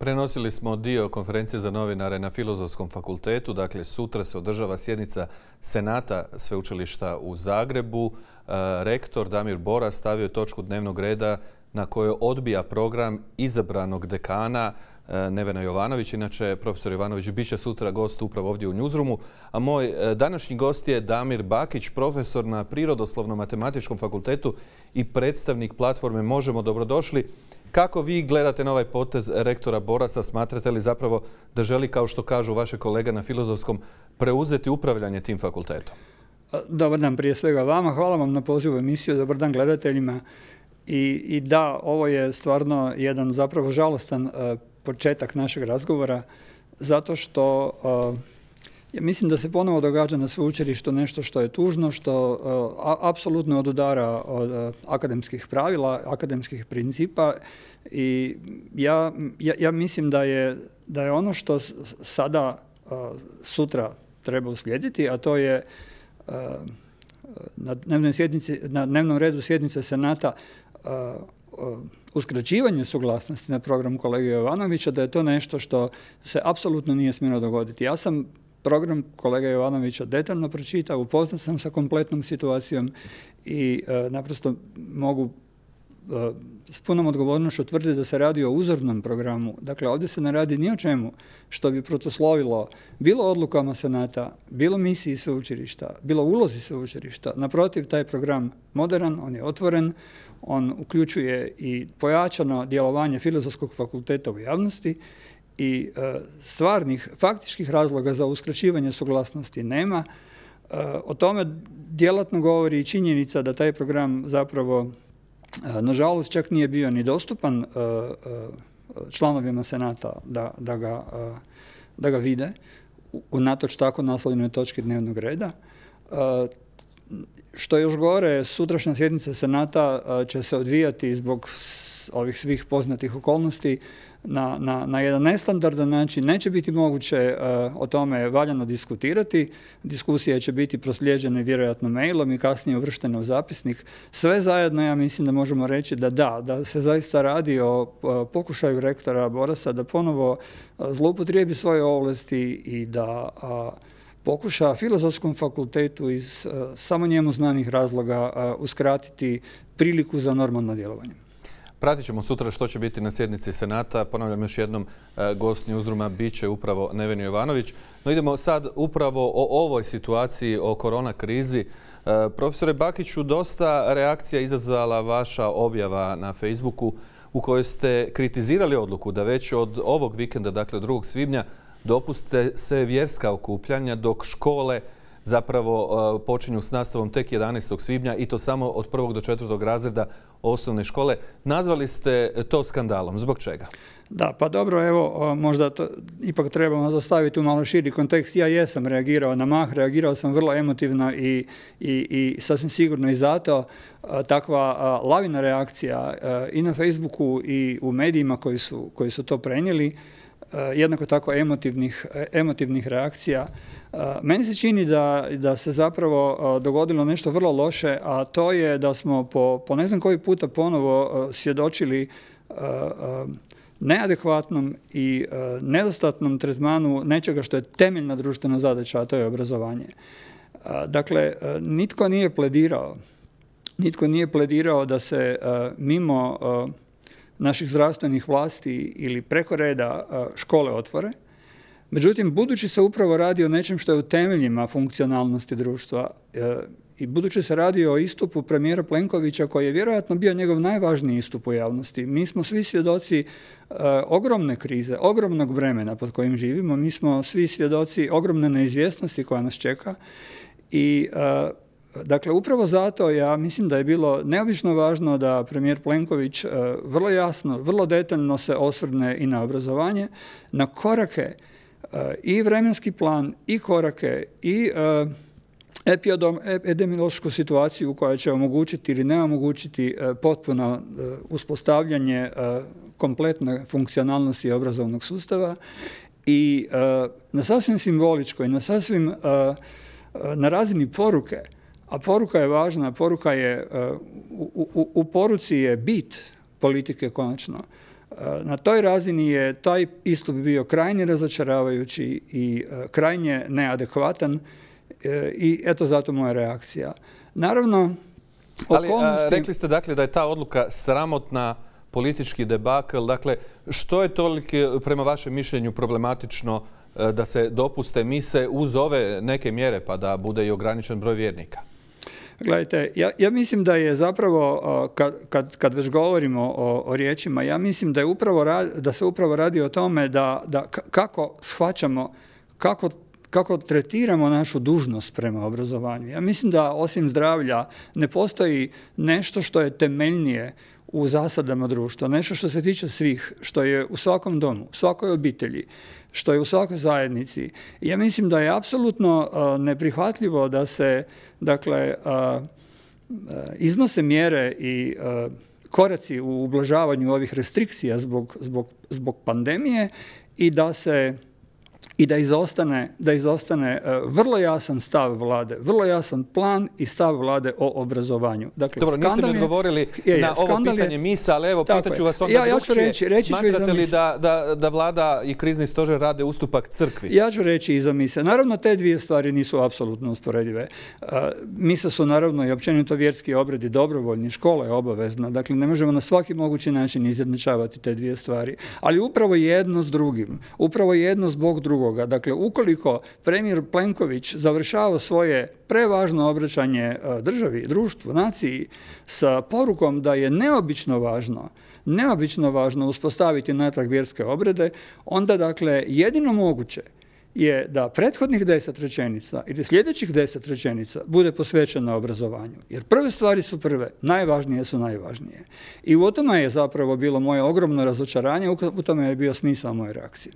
Prenosili smo dio konferencije za novinare na Filozofskom fakultetu. Dakle, sutra se održava sjednica Senata Sveučilišta u Zagrebu. Rektor Damir Boras stavio je točku dnevnog reda na kojoj odbija program izabranog dekana Nevena Jovanović. Inače, profesor Jovanović bit će sutra gost upravo ovdje u Newsroomu. A moj današnji gost je Damir Bakić, profesor na Prirodoslovno-matematičkom fakultetu i predstavnik platforme Možemo. Dobrodošli. Kako vi gledate na ovaj potez rektora Borasa? Smatrate li zapravo da želi, kao što kažu vaše kolega na Filozofskom, preuzeti upravljanje tim fakultetom? Dobar dan prije svega vama. Hvala vam na pozivu emisiju. Dobar dan gledateljima. I da, ovo je stvarno jedan zapravo žalostan početak našeg razgovora, zato što ja mislim da se ponovo događa na sveučilištu nešto što je tužno, što apsolutno odudara od akademskih pravila, akademskih principa, i ja mislim da je ono što sada sutra treba uslijediti, a to je na dnevnom redu sjednice Senata uskraćivanje suglasnosti na program kolege Jovanovića, da je to nešto što se apsolutno nije smjelo dogoditi. Ja sam program kolege Jovanovića detaljno pročitao, upoznat sam sa kompletnom situacijom i naprosto mogu s punom odgovornošću tvrditi da se radi o uzornom programu. Dakle, ovdje se ne radi ni o čemu što bi protuslovilo bilo odlukama Senata, bilo misiji sveučilišta, bilo ulozi sveučilišta. Naprotiv, taj program moderan, on je otvoren, on uključuje i pojačano djelovanje Filozofskog fakulteta u javnosti i stvarnih, faktičkih razloga za uskraćivanje suglasnosti nema. O tome djelatno govori i činjenica da taj program zapravo nažalost čak nije bio ni dostupan članovima Senata da ga vide, unatoč tako naslovljenoj točki dnevnog reda. Što je još gore, sutrašnja sjednica Senata će se odvijati zbog ovih svih poznatih okolnosti na jedan nestandardan način. Neće biti moguće o tome valjano diskutirati. Diskusije će biti proslijeđene vjerojatno mailom i kasnije uvrštene u zapisnik. Sve zajedno ja mislim da možemo reći da se zaista radi o pokušaju rektora Borasa da ponovo zloupotrijebi svoje ovlasti i da pokuša Filozofskom fakultetu iz samo njemu znanih razloga uskratiti priliku za normalno djelovanje. Pratit ćemo sutra što će biti na sjednici Senata. Ponavljam još jednom, gost Newsrooma bit će upravo Neven Jovanović. No idemo sad upravo o ovoj situaciji, o korona krizi. Profesore Bakiću, dosta reakcija izazvala vaša objava na Facebooku u kojoj ste kritizirali odluku da već od ovog vikenda, dakle 2. svibnja, dopuste se vjerska okupljanja dok škole zapravo počinju s nastavom tek 11. svibnja i to samo od 1. do 4. razreda osnovne škole. Nazvali ste to skandalom. Zbog čega? Da, pa dobro, evo, možda to ipak trebamo dostaviti u malo širi kontekst. Ja jesam reagirao na mah, reagirao sam vrlo emotivno i sasvim sigurno i zato takva lavina reakcija i na Facebooku i u medijima koji su to prenijeli, jednako tako emotivnih reakcija. Meni se čini da se zapravo dogodilo nešto vrlo loše, a to je da smo po ne znam koji puta ponovo svjedočili neadekvatnom i nedostatnom tretmanu nečega što je temeljna društvena zadaća, a to je obrazovanje. Dakle, nitko nije pledirao da se mimo naših zdravstvenih vlasti ili preko reda škole otvore. Međutim, budući se upravo radi o nečem što je u temeljima funkcionalnosti društva i budući se radi o istupu premijera Plenkovića koji je vjerojatno bio njegov najvažniji istup u javnosti. Mi smo svi svjedoci ogromne krize, ogromnog vremena pod kojim živimo. Mi smo svi svjedoci ogromne neizvjesnosti koja nas čeka i dakle, upravo zato ja mislim da je bilo neobično važno da premijer Plenković vrlo jasno, vrlo detaljno se osvrne i na obrazovanje, na korake i vremenski plan i korake i epidemiološku situaciju koja će omogućiti ili ne omogućiti potpuno uspostavljanje kompletne funkcionalnosti obrazovnog sustava i na sasvim simboličkoj, na razini poruke, a poruka je važna, poruka je, u poruci je bit politike konačno. Na toj razini je taj istup bio krajnje razočaravajući i krajnje neadekvatan i eto zato moja reakcija. Naravno, ali rekli ste dakle da je ta odluka sramotna, politički debakl. Dakle, što je toliko prema vašem mišljenju problematično da se dopuste mise uz ove neke mjere pa da bude i ograničen broj vjernika? Gledajte, ja mislim da je zapravo, kad već govorimo o riječima, ja mislim da se upravo radi o tome kako shvaćamo, kako tretiramo našu dužnost prema obrazovanju. Ja mislim da osim zdravlja ne postoji nešto što je temeljnije u zasadama društva, nešto što se tiče svih, što je u svakom domu, svakoj obitelji, što je u svakoj zajednici. Ja mislim da je apsolutno neprihvatljivo da se, dakle, iznose mjere i koraci u ublažavanju ovih restrikcija zbog pandemije i da izostane vrlo jasan stav vlade, vrlo jasan plan i stav vlade o obrazovanju. Dakle, dobro, niste mi odgovorili na ovo pitanje misa, ali evo, pitaću vas onda drugčije. Smatrate li da vlada i krizni stožer rade ustupak crkvi? Ja ću reći iza mise. Naravno, te dvije stvari nisu apsolutno usporedive. Mise su naravno i općenito vjerski obredi dobrovoljni, škola je obavezna. Dakle, ne možemo na svaki mogući način izjednačavati te dvije stvari. Ali upravo jedno s drugim, upravo jedno zbog drugog. Dakle, ukoliko premijer Plenković završava svoje prevažno obraćanje državi, društvu, naciji sa porukom da je neobično važno uspostaviti natrag vjerske obrede, onda dakle jedino moguće je da prethodnih 10 rečenica ili sljedećih 10 rečenica bude posvećeno obrazovanju. Jer prve stvari su prve, najvažnije su najvažnije. I u tome je zapravo bilo moje ogromno razočaranje, u tome je bio smisao moje reakcije.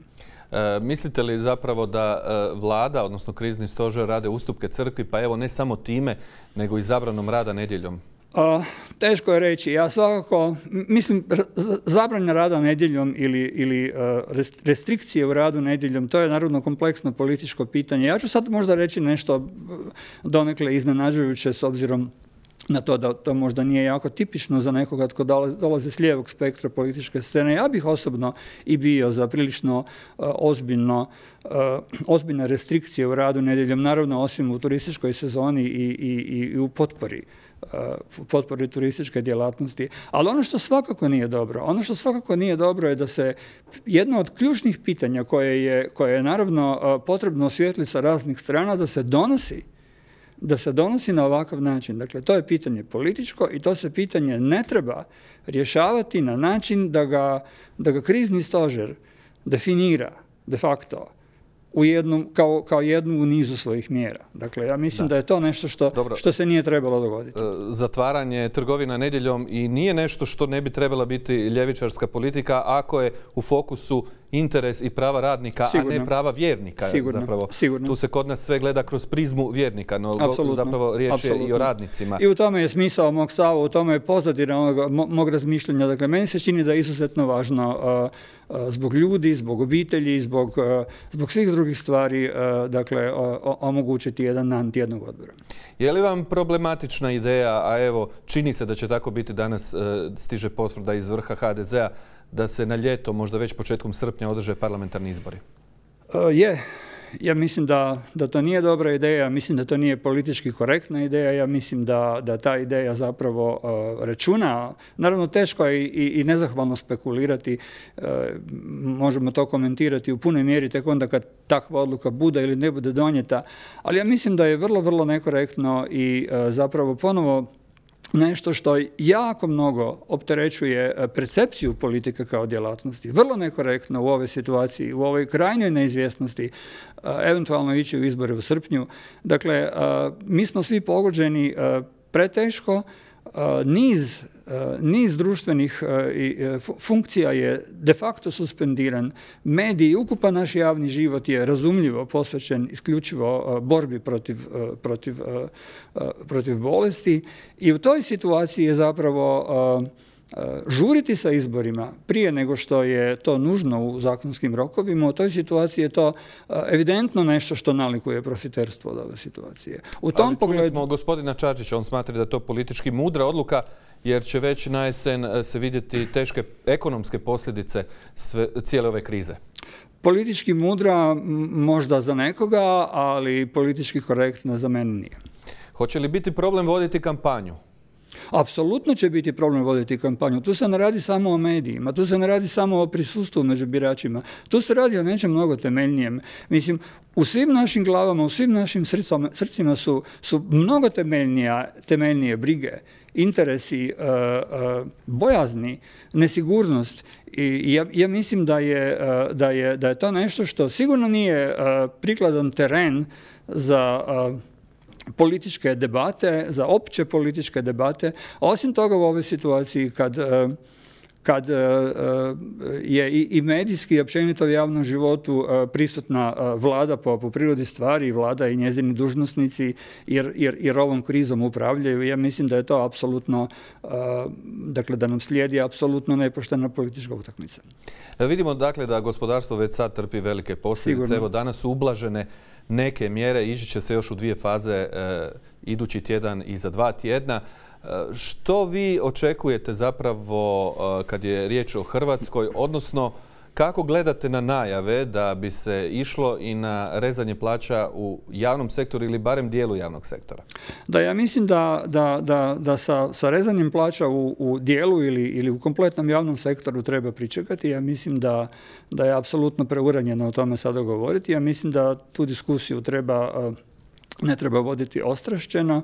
Mislite li zapravo da vlada, odnosno krizni stožer, rade ustupke crkvi, pa evo ne samo time, nego i zabranom rada nedjeljom? Teško je reći. Ja svakako, mislim, zabrana rada nedjeljom ili restrikcije u radu nedjeljom, to je naravno kompleksno političko pitanje. Ja ću sad možda reći nešto donekle iznenađujuće s obzirom na to da to možda nije jako tipično za nekoga tko dolazi s lijevog spektra političke scene. Ja bih osobno i bio za prilično ozbiljne restrikcije u radu nedjeljom, naravno osim u turističkoj sezoni i u potpori turističke djelatnosti. Ali ono što svakako nije dobro je da se jedno od ključnih pitanja koje je naravno potrebno osvijetliti sa raznih strana, da se donosi na ovakav način. Dakle, to je pitanje političko i to se pitanje ne treba rješavati na način da ga krizni stožer definira de facto kao jednu u nizu svojih mjera. Dakle, ja mislim da je to nešto što se nije trebalo dogoditi. Zatvaranje trgovina nedjeljom i nije nešto što ne bi trebala biti ljevičarska politika ako je u fokusu interes i prava radnika, a ne prava vjernika. Sigurno. Tu se kod nas sve gleda kroz prizmu vjernika, no zapravo riječ je i o radnicima. I u tome je smisao mog stava, u tome je pozadina mog razmišljanja. Dakle, meni se čini da je izuzetno važno zbog ljudi, zbog obitelji, zbog svih drugih stvari, dakle, omogućiti jedan dan tjednog odbora. Je li vam problematična ideja, a evo, čini se da će tako biti, danas stiže potvrda iz vrha HDZ-a, da se na ljeto, možda već početkom srpnja, održe parlamentarni izbori? Ja mislim da to nije dobra ideja, mislim da to nije politički korektna ideja, ja mislim da ta ideja zapravo računa. Naravno, teško je i nezahvalno spekulirati, možemo to komentirati u punoj mjeri tek onda kad takva odluka bude ili ne bude donijeta, ali ja mislim da je vrlo, vrlo nekorektno i zapravo ponovo nešto što jako mnogo opterećuje percepciju politike kao djelatnosti. Vrlo nekorektno u ovoj situaciji, u ovoj krajnjoj neizvjesnosti, eventualno ići u izbore u srpnju. Dakle, mi smo svi pogođeni preteško, niz društvenih funkcija je de facto suspendiran. Mediji, ukupan naš javni život je razumljivo posvećen isključivo borbi protiv bolesti i u toj situaciji je zapravo žuriti sa izborima prije nego što je to nužno u zakonskim rokovima, u toj situaciji je to evidentno nešto što nalikuje profiterstvo od ove situacije. U tom pogledu čuli smo gospodina Čačića, on smatra da je to politički mudra odluka, jer će već na jesen se vidjeti teške ekonomske posljedice cijele ove krize. Politički mudra možda za nekoga, ali politički korektna za mene nije. Hoće li biti problem voditi kampanju? Apsolutno će biti problem voditi kampanju. Tu se ne radi samo o medijima, tu se ne radi samo o prisustvu među biračima. Tu se radi o nečem mnogo temeljnijem. Mislim, u svim našim glavama, u svim našim srcima su mnogo temeljnije brige, interesi, bojazni, nesigurnost. I ja mislim da je to nešto što sigurno nije prikladan teren za političke debate, za opće političke debate. Osim toga, u ovoj situaciji kad je i medijski i općenito u javnom životu prisutna vlada po prirodi stvari, vlada i njezini dužnosnici jer ovom krizom upravljaju, ja mislim da je to apsolutno, dakle da nam slijedi apsolutno nepoštena politička utakmica. Vidimo dakle da gospodarstvo već sad trpi velike posljedice. Sigurno. Evo danas su ublažene neke mjere, ići će se još u 2 faze idući tjedan i za 2 tjedna. Što vi očekujete zapravo kad je riječ o Hrvatskoj, odnosno kako gledate na najave da bi se išlo i na rezanje plaća u javnom sektoru ili barem dijelu javnog sektora? Da, ja mislim da sa rezanjem plaća u dijelu ili u kompletnom javnom sektoru treba pričekati. Ja mislim da je apsolutno preuranjeno o tome sada govoriti. Ja mislim da tu diskusiju ne treba voditi ostrašćeno.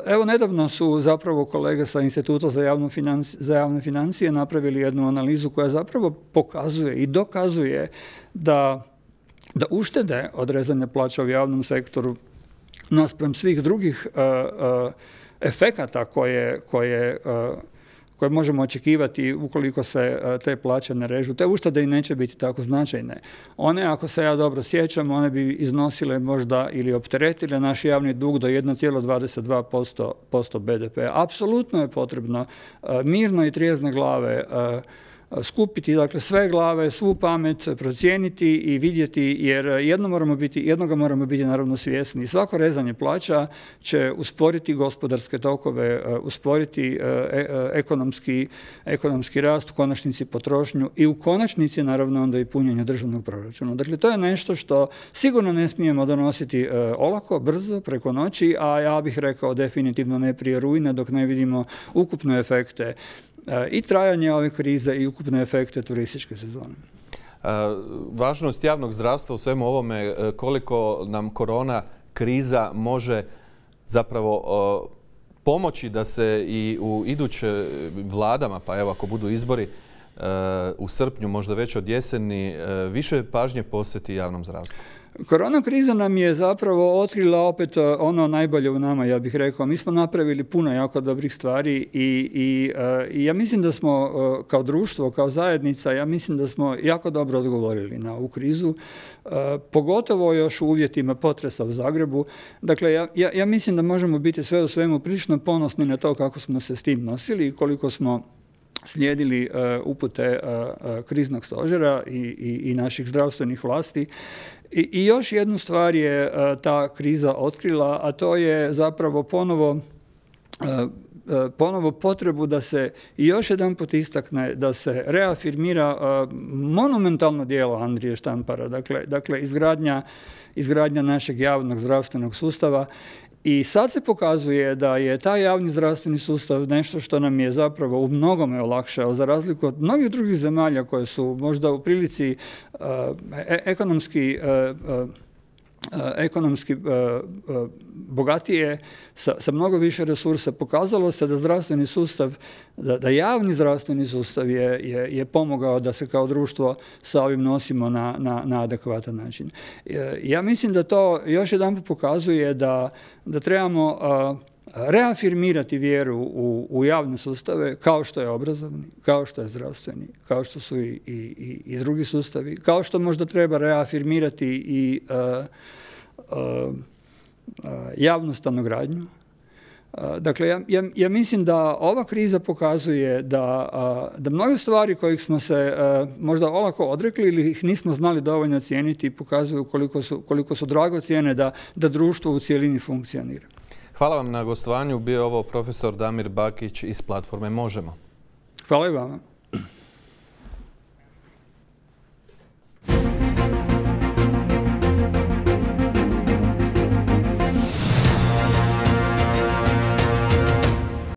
Evo, nedavno su zapravo kolege sa Instituta za javne financije napravili jednu analizu koja zapravo pokazuje i dokazuje da uštede od rezanja plaća u javnom sektoru naspram svih drugih efekata koje možemo očekivati ukoliko se te plaće ne režu. Te uštede i neće biti tako značajne. One, ako se ja dobro sjećam, one bi iznosile možda ili opteretile naš javni dug do 1,22% BDP. Apsolutno je potrebno mirno i trijezne glave skupiti, dakle, sve glave, svu pamet, procijeniti i vidjeti, jer jednoga moramo biti naravno svjesni. Svako rezanje plaća će usporiti gospodarske tokove, usporiti ekonomski rast, u konačnici potrošnju i u konačnici naravno onda i punjenje državnog proračuna. Dakle, to je nešto što sigurno ne smijemo donositi olako, brzo, preko noći, a ja bih rekao definitivno ne prije rujna dok ne vidimo ukupne efekte i trajanje ove krize i ukupne efekte turističke sezone. Važnost javnog zdravstva u svemu ovome, koliko nam korona kriza može zapravo pomoći da se i u iduće vladama, pa evo ako budu izbori u srpnju, možda već od jeseni, više pažnje posveti javnom zdravstvu? Korona kriza nam je zapravo otkrila opet ono najbolje u nama, ja bih rekao. Mi smo napravili puno jako dobrih stvari i ja mislim da smo kao društvo, kao zajednica, ja mislim da smo jako dobro odgovorili na ovu krizu, pogotovo još u uvjetima potresa u Zagrebu. Dakle, ja mislim da možemo biti sve u svemu prilično ponosni na to kako smo se s tim nosili i koliko smo slijedili upute kriznog stožera i naših zdravstvenih vlasti. I još jednu stvar je ta kriza otkrila, a to je zapravo ponovo potrebu da se još jedanput istakne, da se reafirmira monumentalno djelo Andrije Štampara, dakle izgradnja našeg javnog zdravstvenog sustava. I sad se pokazuje da je taj javni zdravstveni sustav nešto što nam je zapravo u mnogome olakšao, za razliku od mnogih drugih zemalja koje su možda u prilici ekonomski bogatije, sa mnogo više resursa. Pokazalo se da zdravstveni sustav, da javni zdravstveni sustav je pomogao da se kao društvo sa ovim nosimo na adekvatan način. Ja mislim da to još jedanput pokazuje da trebamo reafirmirati vjeru u javne sustave, kao što je obrazovni, kao što je zdravstveni, kao što su i drugi sustavi, kao što možda treba reafirmirati i javnu stanogradnju. Dakle, ja mislim da ova kriza pokazuje da mnoge stvari kojih smo se možda olako odrekli ili ih nismo znali dovoljno cijeniti pokazuju koliko su dragocjene da društvo u cjelini funkcionira. Hvala vam na gostovanju. Bio je ovo profesor Damir Bakić iz platforme Možemo. Hvala i vama.